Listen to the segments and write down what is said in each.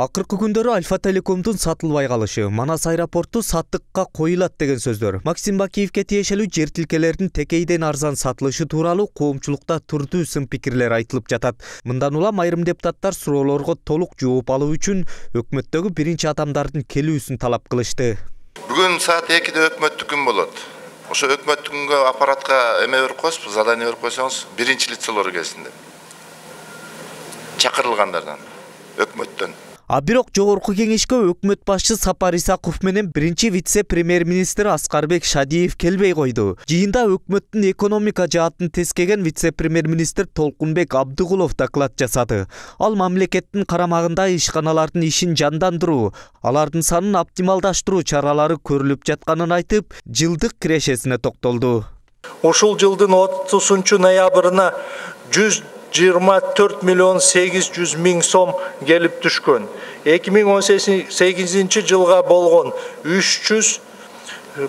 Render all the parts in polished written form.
Акыркы күндөрү Альфа Телекомдун сатылбай калышы, Манас аэропорту саттыкка коюлат деген сөздөр, Максим Бакиевке тиешелүү жер тилкелердин текейден арзан сатылышы тууралуу коомчулукта турдуу сын пикирлер айтылып жатат. Мындан улам айрым депутаттар суроолорго толук жооп алуу үчүн өкмөттөгү биринчи адамдардын келүүсүн талап кылышты. Бүгүн саат 2-де өкмөттүк күн болот. Ошо өкмөттүк күнгө аппаратка эме берип коесузбу, задание берип койсоңуз, биринчи лицолор келсин деп. Чакырылгандардан, өкмөттөн. Бирок жогорку кеңешке өкмөт башчы Сапар Исаков менен биринчи вице-премьер-министр Аскарбек Шадиев келбей койду. Жыйында өкмөттүн экономика жаатын тескеген вице-премьер-министр Толкунбек Абдыгулов доклад жасады. Ал мамлекеттин карамагындагы ишканалардын ишин жандандыруу, алардын санын оптималдаштыруу чаралары көрүлүп жатканын айтып, жылдык кирешесине токтолду. Ушул жылдын 30 ноябрына 124 миллион 800 миң сом келип түшкөн. 2018 жылга болгон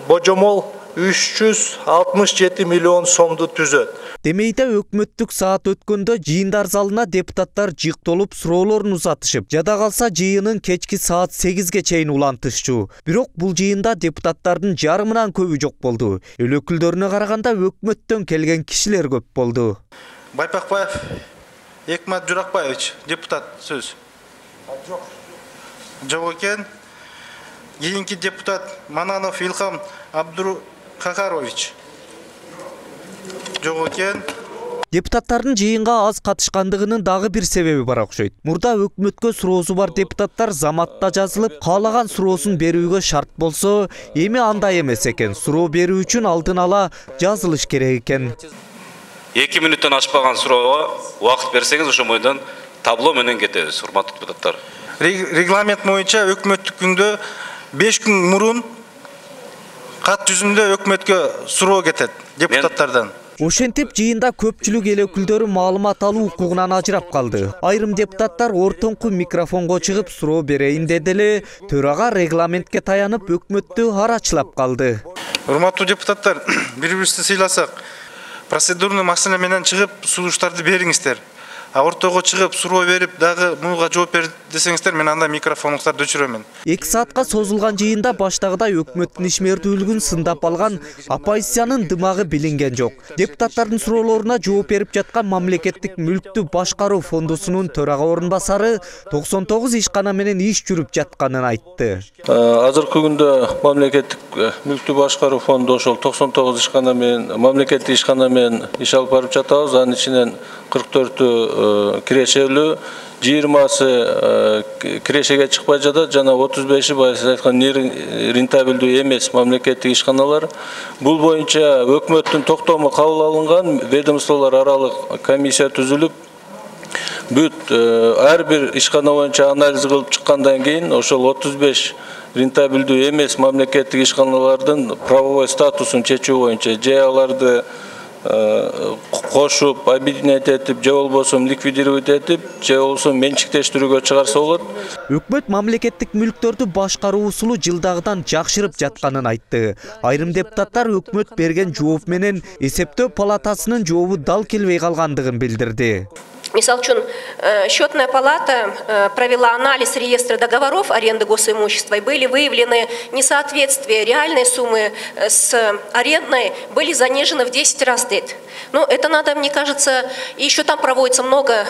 божомол 367 миллион сомду түзөт. Демейде өкмөттүк саат өткөндө жыйындар залына депутаттар жыктолуп суроолорун узатышып, жада калса жыйынын кечки саат 8ге чейин улантышчу. Бирок бул жыйында депутаттардын жарымынан көбү жок болду. Эл өкүлдөрүнө караганда өкмөттөн келген кишилер көп болду. Байпакбаев Экмат Журакбаевич, депутат сөз. Жок экен. Кийинки депутат Мананов Илхам Абдуркакарович. Жок экен. Депутаттардын жыйынга аз катышкандыгынын дагы бир себеби бар окшойт. Мурда өкмөткө суроосу бар депутаттар заматта жазылып, каалаган суроосун берүүгө шарт болсо, эми андай эмес экен. Суроо берүү үчүн алдын ала жазылыш керек экен. 2 мүнөттөн ашпаган суроого убакыт берсеңиз, ошо бойдон табло менен кетебиз, урматтуу депутаттар. Регламент боюнча өкмөттүк күндө 5 күн мурун кат жүзүндө өкмөткө суроо кетет депутаттардан. Ошентип жыйында көпчүлүк эл өкүлдөрү маалымат алуу укугунан ажырап калды. Айрым депутаттар ортоңку микрофонго чыгып суроо берейин деди эле, төрага регламентке таянып өкмөттү арачылап калды. Урматтуу депутаттар, бири-бирибизди сыйласак, процедурный маселе менен чыгып сунуштарды бериңиздер. Ортого чыгып суроо берип дагы муга жооп бер десеңиздер, мен анда микрофондуктарды өчүрөмүн. 2 саатка созулган жыйында баштагыдай өкмөттүн ишмердүүлүгүн сындап алган оппозициянын дымагы билинген жок. Депутаттардын суроолоруна жооп берип жаткан мамлекеттик мүлктү башкаруу фондусунун төрага орун басары 99 ишкана менен иш жүрүп жатканын айтты. Азыркы күндө мамлекеттик мүлктү башкаруу фонду ошол 99 ишкана менен мамлекеттик ишкана менен иш алып барып жатабыз. Анын ичинен 44 кирешелүү, 20сы кирешеге чыкпай жатат, жана 35-и байсы айткан рентабелдүү эмес мамлекеттик ишканалар. Бул боюнча өкмөттүн токтому кабыл алынган, ведомстволор аралык комиссия түзүлүп, бүт ар бир ишкана боюнча анализ кылып чыккандан кийин ошол 35 рентабелдүү эмес мамлекеттик ишканалардын правовой статусун чечүү боюнча же аларды кошуп, объединять этип, же болбосо ликвидировать этип, же болбосо менчиктештирүүгө чыгарса болот. Өкмөт мамлекеттик мүлктөрдү башкаруу усулу жылдагыдан жакшырып жатканын айтты. Айрым депутаттар өкмөт берген жооп менен эсептөө палатасынын жообу дал келбей калгандыгын билдирди. Мисал үчүн, счетная палата провела анализ реестра договоров аренды госимущества, и были выявлены несоответствия реальной суммы с арендной, были занижены в 10 раз. Ну, это надо, мне кажется, и еще там проводится много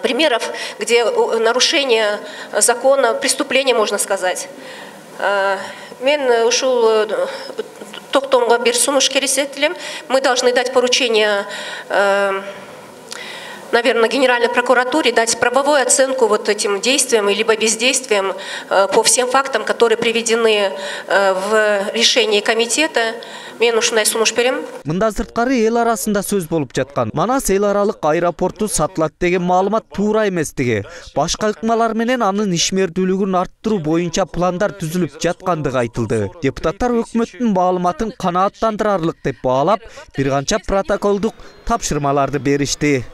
примеров, где нарушение закона, преступление, можно сказать. Мен ушул токтомго бир сунуш кересет элем. Мы должны дать поручение, наверное, Генеральной прокуратуре дать правовую оценку вот этим действиям либо бездействиям по всем фактам, которые приведены в решении комитета. Мен ушундай сунуш берем. Мында сырткары эл арасында сөз болуп жаткан. Манас эл аралык аэропорту сатылат деген маалымат туура эместиги, башка ыкмалар менен анын ишмердүүлүгүн арттыруу боюнча пландар түзүлүп жаткандыгы айтылды. Депутаттар өкмөттүн маалыматын канааттандырарлык деп баалап, бир канча протоколдук тапшырмаларды беришти.